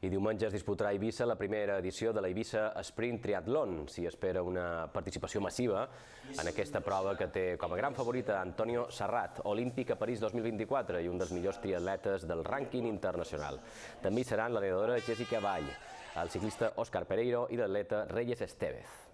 I diumenge es disputarà a Eivissa la primera edició de la Eivissa Sprint Triathlon. S'hi espera una participació massiva en aquesta prova que té com a gran favorita Antonio Serrat, olímpic a París 2024 i un dels millors triatletes del rànquing internacional. També hi seran la nedadora Jessica Vall, el ciclista Óscar Pereiro i l'atleta Reyes Estévez.